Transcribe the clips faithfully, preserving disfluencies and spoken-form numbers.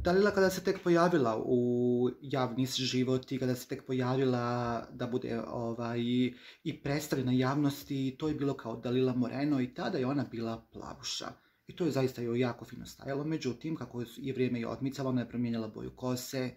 Dalila kada se tek pojavila u javni život i kada se tek pojavila da bude ovaj, i predstavljena javnosti, to je bilo kao Dalila Moreno i tada je ona bila plavuša. I to je zaista joj jako fino stajalo, međutim, kako je vrijeme je odmicalo, ona je promijenila boju kose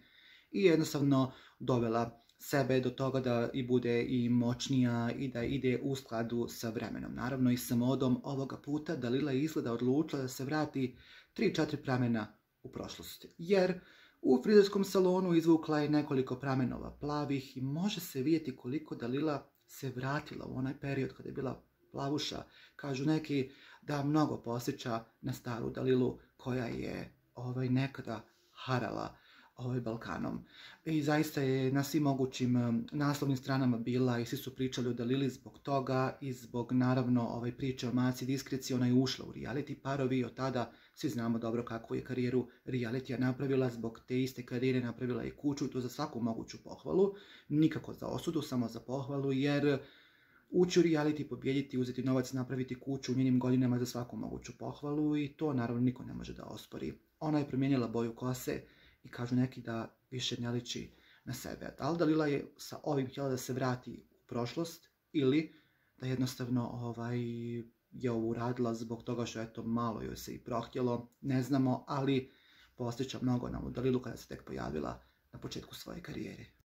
i jednostavno dovela sebe do toga da i bude i moćnija i da ide u skladu sa vremenom. Naravno i sa modom ovoga puta Dalila je izgleda odlučila da se vrati tri četiri pramena u prošlosti. Jer u frizerskom salonu izvukla je nekoliko pramenova plavih i može se vidjeti koliko Dalila se vratila u onaj period kada je bila plavuša. Kažu neki da mnogo posjeća na staru Dalilu koja je ovaj, nekada harala ovaj, Balkanom. I zaista je na svim mogućim naslovnim stranama bila i svi su pričali o Dalili zbog toga i zbog naravno ovaj, priče o Maci Diskreci. Ona je ušla u reality parovi i od tada svi znamo dobro kakvu je karijeru realitija napravila. Zbog te iste karijere napravila je kuću i to za svaku moguću pohvalu. Nikako za osudu, samo za pohvalu jer ući u reality, pobjediti, uzeti novac, napraviti kuću u njenim godinama za svaku moguću pohvalu i to naravno niko ne može da ospori. Ona je promijenila boju kose i kažu neki da više ne liči na sebe. Da li Dalila je sa ovim htjela da se vrati u prošlost ili da jednostavno ovaj, je ovo uradila zbog toga što eto malo joj se i prohtjelo, ne znamo, ali posjeća mnogo na ovu Dalilu kada se tek pojavila na početku svoje karijere.